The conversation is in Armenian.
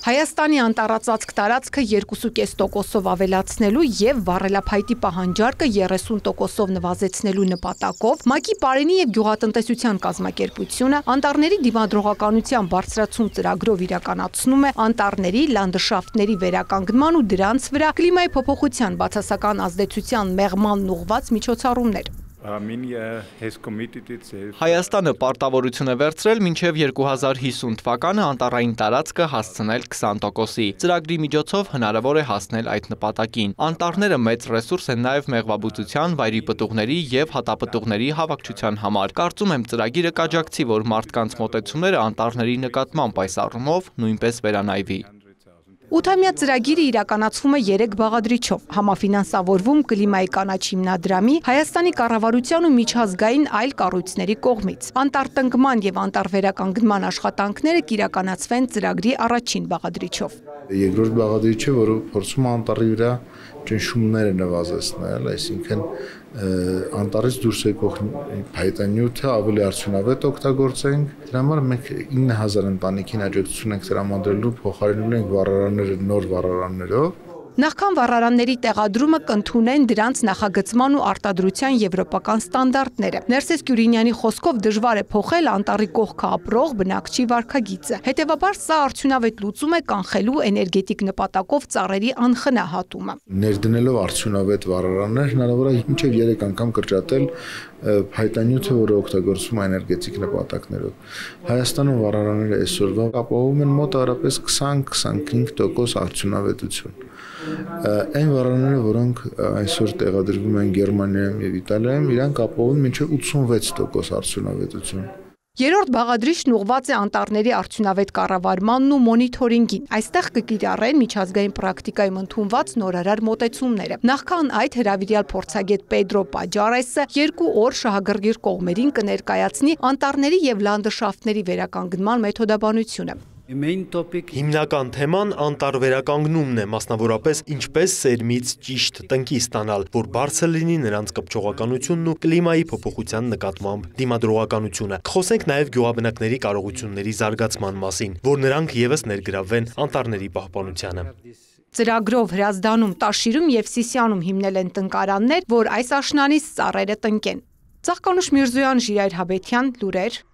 Հայաստանի անտառածածկ տարածքը 2,5%-ով ավելացնելու և վառելափայտի պահանջարկը 30%-ով նվազեցնելու նպատակով ՄԱԿ-ի Պարենի և գյուղատնտեսության կազմակերպությունը անտառների դիմադրողականության բարձրացում ծրագրով իրականացնում է անտառների, լանդշաֆտների վերականգնման ու դրանց վրա կլիմայի փոփոխության բացասական ազդեցության մեղմանն ուղղված միջոցառումներ։ Հայաստանը պարտավորություն է վերցրել մինչև 2050 թվականը անտառային տարածքը հասցնել 20%-ի։ Ծրագրի միջոցով հնարավոր է հասնել այդ նպատակին։ Անտառները մեծ ռեսուրս են նաև մեղվաբուծության, վայրի պտուղների և հատապտուղների հավաքչության համար։ Կարծում եմ ծրագիրը կաջակցի, որ մարդկանց մոտեցումները անտառների նկատմամբ այս առումով նույնպես վերանայվի։ 8-ամյա ծրագիրը իրականացվում է 3 բաղադրիչով, համաֆինանսավորվում կլիմայի կանաչ հիմնադրամի, Հայաստանի կառավարության ու միջազգային այլ կառույցների կողմից։ Անտառտնկման և անտառվերականգնման աշխատանքները կիրականացվեն ծրագրի առաջին բաղադրիչով։ Երկրորդ բաղադրիչը, որը փորձում է անտառի վրա ճնշումները նվազեցնել, այսինքն անտառից դուրս եկող փայտանյութը ավելի արդյունավետ օգտագործենք։ Դրա համար մենք 9000 ընտանիքին աջակցություն ենք տրամադրելու, փոխարինում ենք վառարանները նոր վառարաններով։ Նախքան վառարանների տեղադրումը կընդունեն դրանց նախագծման ու արտադրության եվրոպական ստանդարտները։ Ներսես Կյուրինյանի խոսքով դժվար է փոխել անտառի կողքը ապրող բնակչի վարքագիծը։ Հետևաբար սա արդյունավետ լուծում է կանխելու էներգետիկ նպատակով ծառերի անխնահատումը։ Ներդնելով արդյունավետ վառարաններ հնարավոր է մինչև 3 անգամ կրճատել փայտանյութը, որը օգտագործվում է էներգետիկ նպատակներով։ Հայաստանում վառարանները այսօրվա ապահովում են մոտ առապես 20-25% արդյունավետություն։ Այն վառարանները, որոնք այսօր տեղադրվում են Գերմանիայում և Իտալիայում, իրանք ապահովում են մինչև 86% արդյունավետություն։ Երրորդ բաղադրիչն ուղղված է անտառների արդյունավետ կառավարմանն ու մոնիթորինգին։ Այստեղ կկիրառեն միջազգային պրակտիկայում ընդունված նորարար մոտեցումները։ Նախքան այդ հրավիրյալ փորձագետ Պեդրո Պաջարեսը 2 օր շահագրգիռ կողմերին կներկայացնի անտառների և լանդշաֆտների վերականգնման մեթոդաբանությունը։ Հիմնական թեման անտառ վերականգնումն է, մասնավորապես ինչպես սերմից ճիշտ տնկի ստանալ, որ բարձր լինի նրանց կպչողականությունն ու կլիմայի փոփոխության նկատմամբ դիմադրողականությունը։ Կխոսենք նաև գյուղաբնակների կարողությունների զարգացման մասին, որ նրանք ևս ներգրավվեն անտառների պահպանությանը։ Ծրագրով Հրազդանում, Տաշիրում և Սիսիանում հիմնել են տնկարաններ, որ այս աշնանից ծառերը տնկեն։ Ծաղկանուշ Միրզոյան, Ժիրայր Հաբետյան, լուրեր։